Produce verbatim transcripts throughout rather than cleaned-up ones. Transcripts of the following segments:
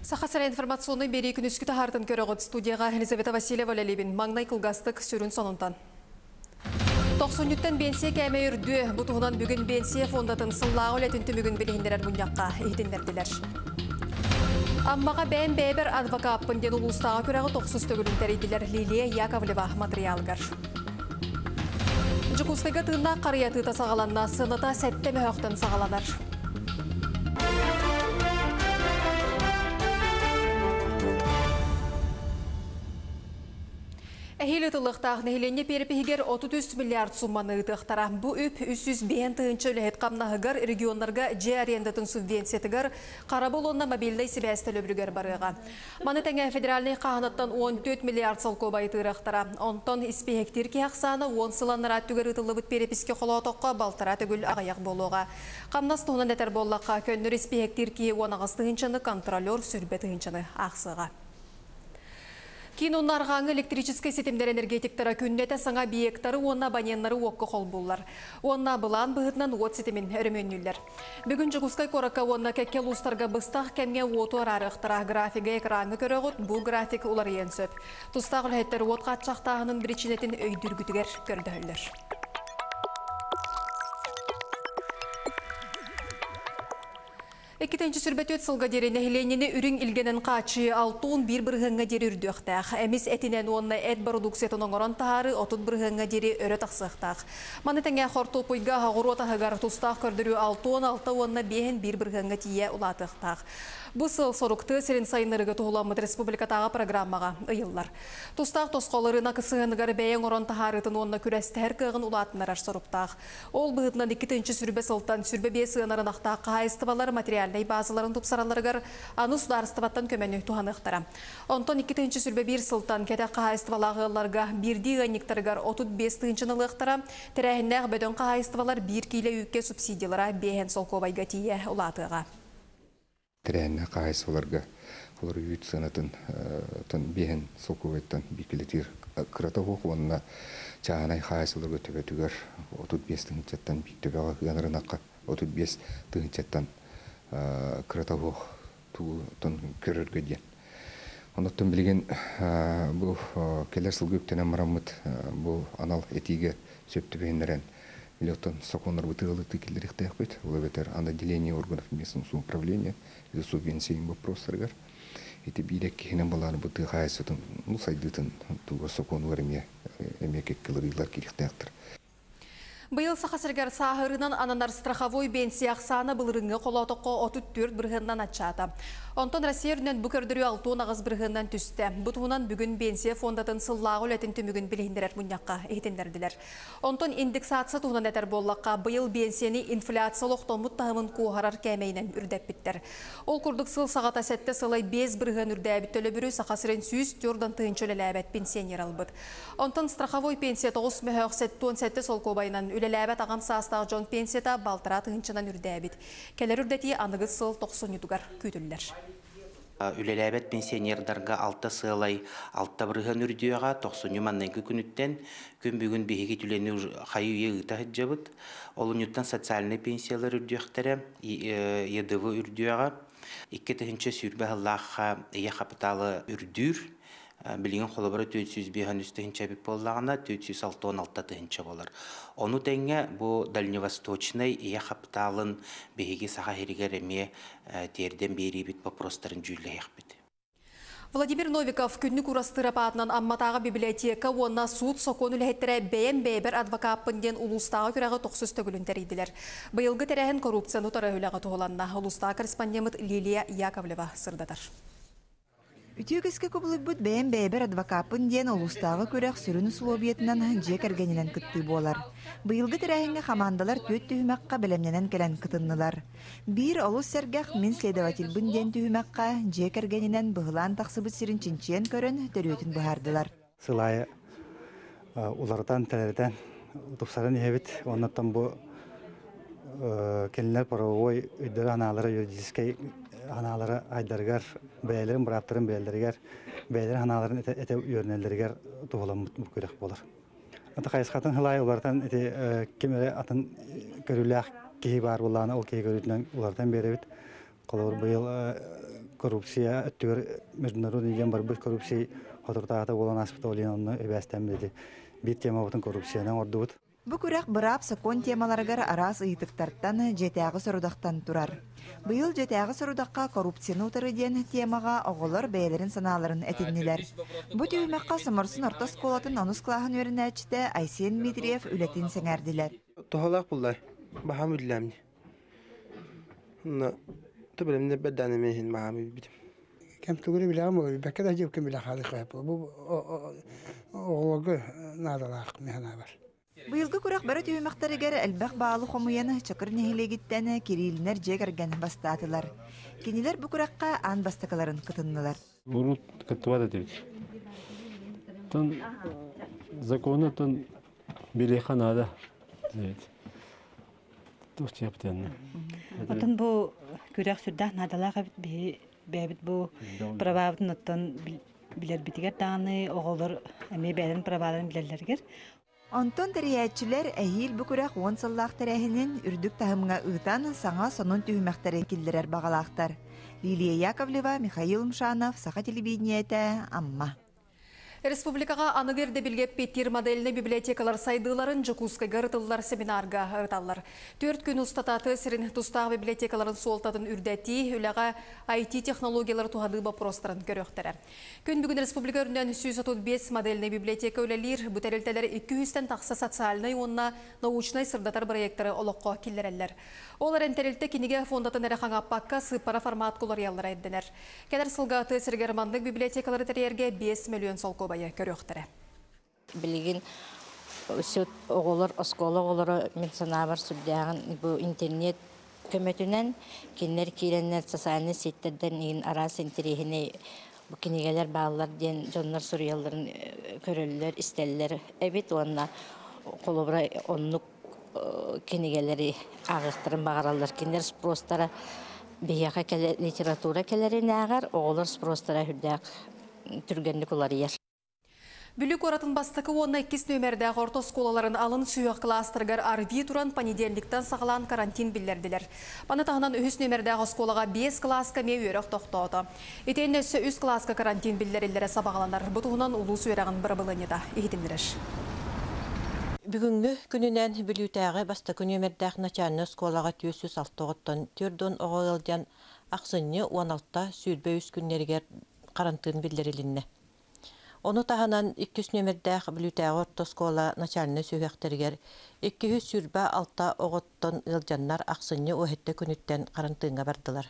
Саха сирэ информационнай биэрии күнүскү таһаартын көрөҕүт. Студияҕа Елизавета Васильева үлэлиибин. Маҥнай кылгастык сүрүн сонунтан. Тохсунньуттан биэнсийэ кээмэйэ үрдүө. Бу туһунан бүгүн биэнсийэ фондатын сыллааҕы үлэтин түмүгүн билиһиннэрэр мунньахха иһитиннэрдилэр. Аммаҕа бэйэм бэйэбэр адвокаппын диэн улуустааҕы күрэҕи тохсус төгүлүн тэрийдилэр. Лилия Яковлева матырыйаалыгар. Дьокуускайга тыыннаах харыйа атыыта саҕаланна. Сыаната сэттэ мөһөөхтөн саҕаланар. Эһиил ыытыллыахтаах нэһилиэнньэ перепиһигэр отут үс миллиард сумманы ыытыахтара. Бу үп үс сүүс биэс тыһыынча үлэһит хамнаһыгар, регионнарга дьиэ арендатын субвенциятыгар, харабыл уонна мобильнай сибээс төлөбүрүгэр барыаҕа. Маны тэҥэ федеральнай хааһынаттан уон түөрт миллиард солкуобайы тыырыахтара. Онтон испииһэктиир киһи ахсаана уон сыл анараа өттүгэр ыытыллыбыт перепискэ холоотоххо балтараа төгүл аҕыйах буолуоҕа. Хамнас туһунан этэр буоллахха, көннөр испииһэктиир киһи уон аҕыс тыһыынчаны, контролер сүүрбэ тыһыынчаны аахсыаҕа. Киин уонна арҕааҥҥы электрическэй ситимнэр энергетиктара күннэтэ саҥа объектары уонна абоненнары уокка холбууллар. Уонна былаан быһыытынан уот ситимин өрөмүөннүүллэр. Бүгүн Дьокуускай куоракка уонна кэккэ улуустарга быстах кэмҥэ уоту араарыахтара. Графига экраҥҥа көрөҕүт, бу график уларыйыан сөп. Тустаах үлэһиттэр уот хааччахтааһынын биричиинэтин өйдүүргүтүгэр көрдөһөллөр. Иккитинчи сүрбэтүөт сылга диэри нэһилиэнньэни үрүҥ илгэнэн хааччыйыы алта уон биир бырыһыаҥҥа диэри үрдүөхтээх. Эмис этинэн уонна эт бородууксуйатын оҥорон таһаарыы отут бырыһыаҥҥа диэри өрө тахсыахтаах. Маны тэҥэ хортуоппуйга оҕуруот аһыгар тустаах көрдөрүү алта уон алта уонна биэһин биир бырыһыаҥҥа тиийэ улаатыахтаах. Бу сыл сорук тыа сирин сайыннарыыга туһуламмыт республикатааҕы программаҕа ыйыллар. Тустаах тосхол ырыынак сыһыаныгар бэйэ оҥорон таһаарыытын уонна күрэстэһэр кыаҕын улаатыннарар соруктаах. Ол быһыытынан иккитинчи сүрбэ сылтан сүрбэ биэс ыанарын ахтаах хаһаайыстыбалар материальнай базаларын тупсаралларыгар аны судаарыстыбаттан көмөнү туһаныахтара. Онтон иккитинчи сүрбэ биир сылтан кэтэх хаһаайыстыбалаах ыалларга биирдии ыанньыктарыгар отут биэс тыһыынчаны ылыахтара. Тэрээһиннээх бөдөҥ хаһаайыстыбалар биир киилэ үүккэ субсидиялара биэһэн солкуобайга тиийэ улаатыаҕа. Тэрээһиннээх хаһаайыстыбаларга олор үүт сыанатын биэһэн солкуобайтан биир килэтиир кырата суох уонна чааһынай хаһаайыстыбаларга төбөтүгэр отут биэс тыһыынчаттан биир төбөҕө ыанарынахха отут биэс тыһыынчаттан кырата суох тугутун көрөргө диэн. Оннуттан билигин бу кэлэр сылга үктэнэн бараммыт бу анал этиигэ сөп түбэһиннэрэн билиоттон сокуоннарбыт ыалыты киллэриэхтээхпит. Ол эбэтэр отделение органов местного самоуправления субвенция вопростарыгар ити биир киһинэн балааны бу тыа хаһаайыстыбатын ну сайдыытын тугар сокуонугар эмиэ эмиэ кэккэлэрилэр киириэхтээхтэр. Быйыл Саха сиригэр сааһырынан ананар страховой пенсия ахсаана былырыҥҥы холоотоххо отут түөрт бырыһыанынан аччаата. Онтон Россия үрдүнэн бу көрдөрүү алта уон аҕыс бырыһыанынан түстэ. Бу туһунан бүгүн пенсия фондатын сыллааҕы үлэтин түмүгүн билиһиннэрэр мунньахха иһитиннэрдилэр. Онтон индексация туһунан этэр буоллахха, быйыл пенсияны инфляция олохтоммут таһымын куоһарар кээмэйинэн үрдэппиттэр. Ол курдук сыл саҕата сэттэ сылай биэс бырыһыан үрдээбит төлөбүрү Саха сирин сүүс түөрт тыһыынча үлэлээбэт пенсионер албыт. Онтон страховой пенсия тоҕус мөһөөх сэттэ уон сэттэ солкуобайынан үлэлээбэт аҕам саастаах дьон пенсията балтараа тыһыынчанан үрдээбит. Кэлэр үрдэтии аныгыс сыл тохсунньутугар күүтүллэр. Үлэлээбэт пенсионердарга алта сыалай алта бырыһыан үрдүөҕэ тохсунньу манныгы күнүттэн күн бүгүн биһиги түлэни хайы үйэ ыыта сылдьабыт. Олунньуттан социальнай пенсиялар үрдүөхтэрэ, Е Д В үрдүөҕэ. Икки тыһыынча сүүрбэ сыллаахха ийэ хапытаалы үрдүүр. Билигин холобура төрт сүүс биэс үс тыһыынча эбит буоллаҕына, төрт сүүс алта уон алта тыһыынча буолар. Ону тэҥэ бу дальневосточнай ийэ хапытаалын биһиги Саха сиригэр эмиэ тиэрдэн биэриибит вопростарын дьүүллэһиэхпит. Владимир Новиков күннүк уурастыырап аатынан Амматааҕы библиотека уонна суут сокуон үлэһиттэрэ бэйэм бэйэбэр адвокаппын диэн улуустааҕы күрэҕи тохсус төгүлүн тэрийдилэр. Быйылгы тэрээһин коррупцияны утары үлэҕэ туһуланна. Улуустааҕы корреспондент Лилия Яковлева сырдатар. Үтүө үгэскэ кубулуйбут бэйэм бэйэбэр адвокаппын диэн улуустааҕы күрэх сүрүн условиятынан дьиэ кэргэнинэн кыттыы буолар. Быйылгы тэрээһиҥҥэ хамаандалар түөрт түһүмэххэ бэлэмнэнэн кэлэн кытыннылар. Биир олус сэргэх мин следовательбын диэн түһүмэххэ дьиэ кэргэнинэн быһылаан тахсыбыт сирин чинчийэн көрөн төрүөтүн быһаардылар. Сыл аайы уларытан тэлэритэн тупсаран иһэбит. Оннуттан бу кинилэр правовой өйдөрө анаалара юридическай анаалара айдарыгар бэйэлэрин бырааптарын бэйэлэригэр бэйэлэрин анааларын этэ үөрэнэллэригэр туһуламмыт бу күрэх буолар. Ата хайысхатын сыл аайы уларытан ити ким эрэ атын көрүүлээх киһи баар буоллаҕына ол киһи көрүүтүнэн уларытан биэрэбит. Холобур быйыл Коррупция өттүгэр международный диэн барбыт коррупция хотуртаата буолан аспыта олин онно эбээстэн билди. Биир темабытын коррупциянан ордубут. Бу күрэх быраап сокуон темаларыгар араас ыйытыктартан дьиэтээҕи сорудахтан турар. Быйыл дьиэтээҕи сорудахха коррупцияны утары диэн темаҕа оҕолор бэйэлэрин санааларын этиннилэр. Бу түһүмэххэ Соморсун орто оскуолатын онус кылааһын үөрэнээччитэ Айсен Дмитриев үлэтин сэҥээрдилэр. Туһалаах буллар. Баһам үллэмни. Онно төбөлөмнөр бэрдааны мехин баһам битим. Кэм тугуну билэҕим ол бэккэ да дьиэп кэм билэ хаалык бу оҕолорго наадалаах механабар. Быйылгы күрэх бары түһүмэхтэригэр элбэх баалы хомуйан Чакыр нэһилиэгиттэн Кириллинэр дьиэ кэргэн бастаатылар. Кинилэр бу күрэххэ аан бастакыларын кытыннылар. Урут кыттыбат этибит. Тон законы тон билиэхэ наада. Туох диэптэн. Отон бу күрэх сүрдээх наадалаах эбит биһи бэйэбит бу правабытын оттон билэрбитигэр даҕаны оҕолор эмиэ бэйэлэрин праваларын билэллэригэр. Онтон тэрийээччилэр эһиил бу күрэх уон сыллаах тэрээһинин үрдүк таһымҥа ыытан саҥа сонун түһүмэхтэри киллэрэр баҕалаахтар. Лилия Яковлева, Михаил Мшанов, Саха телевидениетэ, Амма. Республикаҕа аныгы ирдэбилгэ эппиэттиир модельнай библиотекалар сайдыыларын Дьокуускайга ыытыллар семинарга ырыталлар. Түөрт күн устата тыа сирин тустаах библиотекаларын суолтатын үрдэтии, үлэҕэ ай ти технологиялары туһаныы боппуруостарын көрүөхтэрэ. Күн бүгүн республика үрдүнэн сүүс отут биэс модельнай библиотека үлэлиир, бу тэрилтэлэр икки жүзтэн тахса социальнай уонна научнай сырдатар проекттары олоххо киллэрэллэр. Ол эрэн тэрилтэ кинигэ фондатын эрэ хаҥаппакка сыыппара формат куларыйаллара ирдэнэр. Кэлэр сылга тыа сиригэр маннык библиотекалары тэрийэргэ биэс миллион солкуобайы көрүөхтэрэ. Билигин сүт оҕолор, оскуола оҕолоро мин санаабар сүрдээҕин бу интернет көмөтүнэн кинилэр киирэннэр социальнай сеттерден иин араас интэриэһинэй бу кинигэлэр бааллар диэн дьоннор суруйалларын көрөллөр, истэллэр эбит уонна холобура оннук кинигэлэри ааҕыахтарын баҕараллар. Кинилэр спростара биһиэхэ кэлэ литература кэлэринээҕэр оҕолор спростара үрдээх түргэнник уларыйар. Бүлүү куоратын бастакы уонна иккис нүөмэрдээх орто оскуолаларын алын сүһүөх кылаастарыгар АРВИ туран понедельниктан саҕалаан карантин биллэрдилэр. Маны таһынан үһүс нүөмэрдээх оскуолаҕа биэс кылааска эмиэ үөрэх тохтоото. Итиэннэ өссө үс кылааска карантин биллэриллэрэ сабаҕаланар. Бу туһунан улуус үөрэҕин бырабылыанньата иһитиннэрэр. Бүгүҥҥү күнүнэн Бүлүүтээҕи бастакы нүөмэрдээх начальнай оскуолаҕа түөрт сүүс алта оҕоттон түөрт уон оҕо ыалдьан ахсынньы уон алта сүүрбэ үс күннэригэр карантин биллэрилиннэ. Ону таһынан иккис нүөмэрдээх Бүлүүтээҕи орто оскуола начальнай сүһүөхтэригэр икки жүз сүүрбэ алта оҕоттон ыалдьаннар ахсынньы уоһэтте күнүттэн карантиҥҥа бардылар.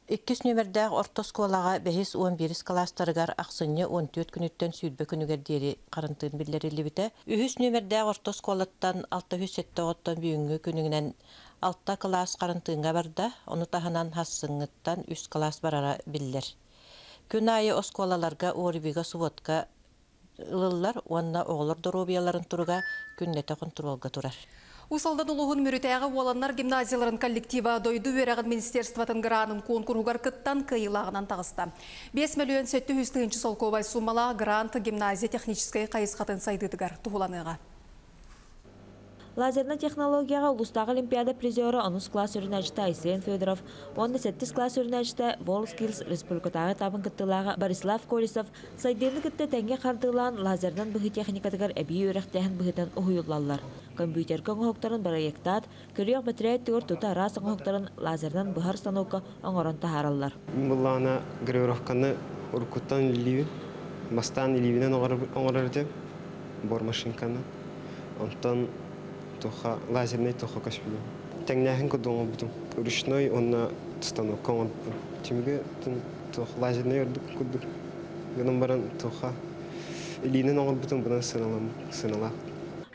Иккис нүөмэрдээх орто оскуолаҕа бэһис уон биирис кылаастарыгар ахсынньы уон түөрт күнүттэн сүүрбэ күнүгэр диэри карантин биллэриллибитэ. Үһүс нүөмэрдээх орто оскуолаттан алта жүз сэттэ оҕоттон бүгүҥҥү күнүгүнэн алта кылаас карантиҥҥа барда, ону таһынан хассыҥҥыттан үс кылаас барара биллэр. Күн айы оскуолаларга ОРВИга субботка ылыллар уонна оҕолор доруобуйаларын туруга күннэтэ хонтуруолга турар. Уус Алдан улууһун Мүрүтээҕи уоланнар гимназияларын коллектива дойду үөрэҕин министерствотын гранын куонкуруһугар кыттан кыайыылааҕынан таҕыста. Биэс миллион сэттэ жүз тыһыынча солкуобай суумалаах грант гимназия техническэй хайысхатын сайдыытыгар туһуланыаҕа. Лазернай технологияҕа улуустааҕы олимпиада призера онус класс үөрэнээччитэ Айсен Федоров уонна сэттис класс үөрэнээччитэ WorldSkills республикатааҕы этабын кыттыылааҕа Борислав Колесов сайдыыны кытта тэҥҥэ хардыылаан лазерынан быһыы техникатыгар эбии үөрэхтээһин быһыытынан уһуйуллаллар. Компьютерга оҥоһуктарын проектаат, көрүөх бэтэрээт түгэр тута араас оҥоһуктарын лазерынан быһар станокка оҥорон таһаараллар. Буллаана гравировканы уруккуттан илиибин, бастаан илиибинэн оҥорор этим, бормашинканы. Онтон туха лазерный туха көспүдүм. Тэҥнээһин курдук оҥорбутум. Ручной уонна станокка оҥорбутум. Түмүгэ туох лазерный ордук курдук. Гынан баран туха илиинэн оҥорбутум бынан сыналаах.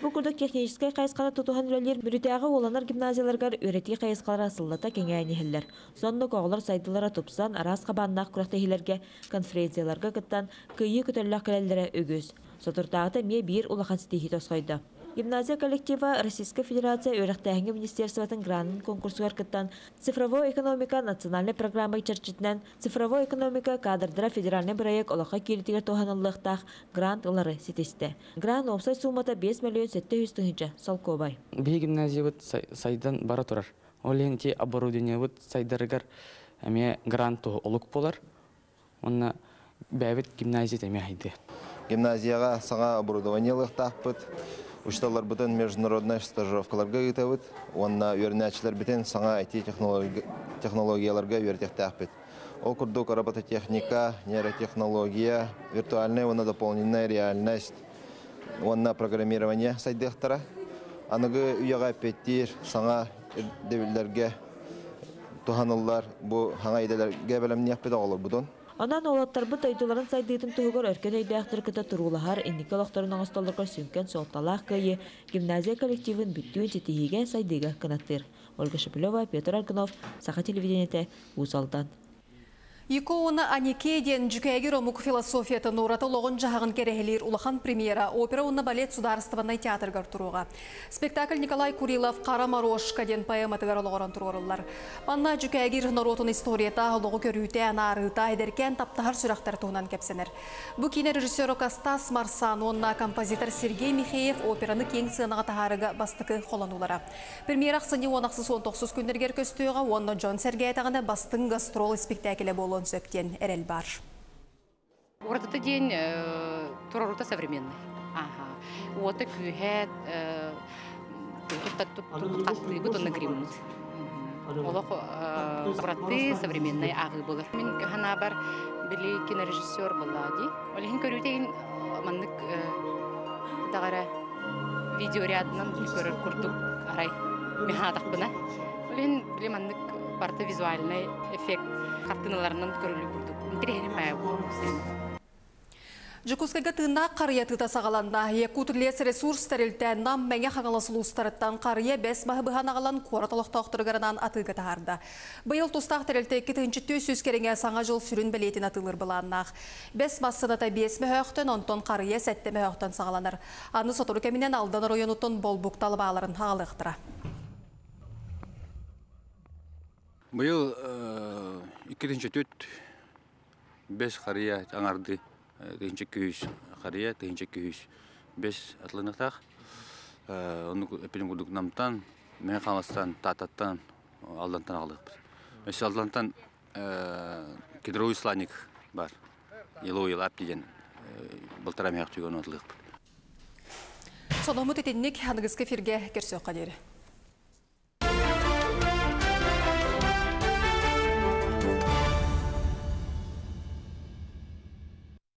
Бу курдук техническэй хайысханы тутуһан үлэлиир Мүрүтээҕи уоланар гимназияларыгар үөрэтии хайысхалара сыллата кэҥээн иһэллэр. Соннук оҕолор сайдыылара тупсан, араас хабааннаах күрэхтэһиилэргэ, конференцияларга кыттан, кыайыы көтөллөөх кэлэллэрэ үгүс. Соторутааҕыта эмиэ биир улахан ситиһии тосхойдо. Гимназия коллектива Российскай Федерация үөрэхтээһиҥҥэ министерствотын гранын конкурсугар кыттан цифровой экономика национальнай программа чэрчитинэн цифровой экономика кадрдара федеральнай проект олоххо кииритигэр туһаныллыахтаах грант ылары ситистэ. Грант уопсай суумата биэс миллион сэттэ жүз тыһыынча солкуобай. Биһи гимназиябыт сайдан бара турар. Ол иһин ити оборудованиебыт сайдарыгар Эме грант олук болар. Онна бәбит гимназия теме хайды. Гимназияға саңа оборудование лыктаахпыт. Учталар бутын международный стажировкаларга ыытабыт. Онна үөрэнээччилэр битин саҥа ай ти технологияларга үөрэтиэхтээхпит. Ол курдук робототехника, нейротехнология, виртуальная уонна дополненная реальность, уонна программирование сайдыахтара. Аныгы үйэҕэ эппиэттиир саҥа ирдэбиллэргэ туһаныллар бу хаҥа идэлэргэ бэлэмниэхпит оҕолорбутун. Онон уолаттарбыт дойдуларын сайдыытын туһугар өркөн өйдөөхтөр кытта туруулаһар инники олохторун оҥостоллорго сүҥкэн суолталаах кыайыы гимназия коллективын бүттүүн ситиһиигэ сайдыыга кынаттыыр. Ольга Шепелева, Петр Аргунов, Саха телевидениете, Уус Алдан. Икона Анике диэн дьүкээгир омук философиятын ураты олоҕун-дьаһаҕын кэрэһилиир улахан премьера опера уонна балет судаарыстыбаннай театрыгар туруоҕа. Спектакль Николай Курилов «Хара Морошка» диэн поэматыгар олоҕуран туруоруллар. Манна дьүкээгир норуотун историята, олоҕу көрүүтэ, анаарыыта, эдэркээн таптаһар сүрэхтэр туһунан кэпсэнэр. Бу киинэ режиссера Костас Марсан уонна композитор Сергей Михеев операны киэҥ сыанаҕа таһаарыыга бастакы холонуулара. Премьера ахсынньы уон ахсыс уон тохсус күннэригэр көстүөҕэ уонна дьон сэргээтэҕинэ бастыҥ гастрол испиктээкилэ буолуон сөп диэн эрэл баар. Уратыта диэн туруорута современный. Ага. Уота күүһэ хаттыыбыт онно гриммыт. Олох ураты современный ааҕыы буолар. Мин санаабар били кинорежиссер буолла дии. Ол иһин көрүүтэ маннык дагара видеорядынан көрөр курдук арай мехатахпына. Ол иһин били маннык барта визуальный эффект картиналарынан көрүлүү курдук. Интириэһинэй баайа Дьокуускайга тыыннаах харыйа атыыта саҕаланна. Якутлесресурс тэрилтэ Нам, Мэҥэ Хаҥалас улуустарыттан харыйа бэс маһы быһан аҕалан куорат олохтоохторугар анаан атыыга таһаарда. Быйыл тустаах тэрилтэ икки тыһыынча түөрт сүүс кэриҥэ Саҥа дьыл сүрүн бэлиэтин атыылыыр былааннаах. Бэс мас сыаната биэс мөһөөхтөн, онтон харыйа сэттэ мөһөөхтөн саҕаланар. Аны сотору кэминэн Алдан оройуонуттан болбукта албааларын аҕалыахтара. Быйыл икки тыһыынча түөрт бэс харыйа аҥарды тыһыынча күүс харыйа тыһыынча күүс бэс атыланытах. Оннук эппитим курдук Намтан, Мэҥэ Хаҥаластан, Тааттаттан, Алдантан аҕалыахпыт. Өссө Алдантан кедровый сланник бар. Еловый лап диэн балтараа мөһөөх түгэн атылыахпыт. Сонуммут итинник аныгыскы эфиргэ көрсүөххэ диэри.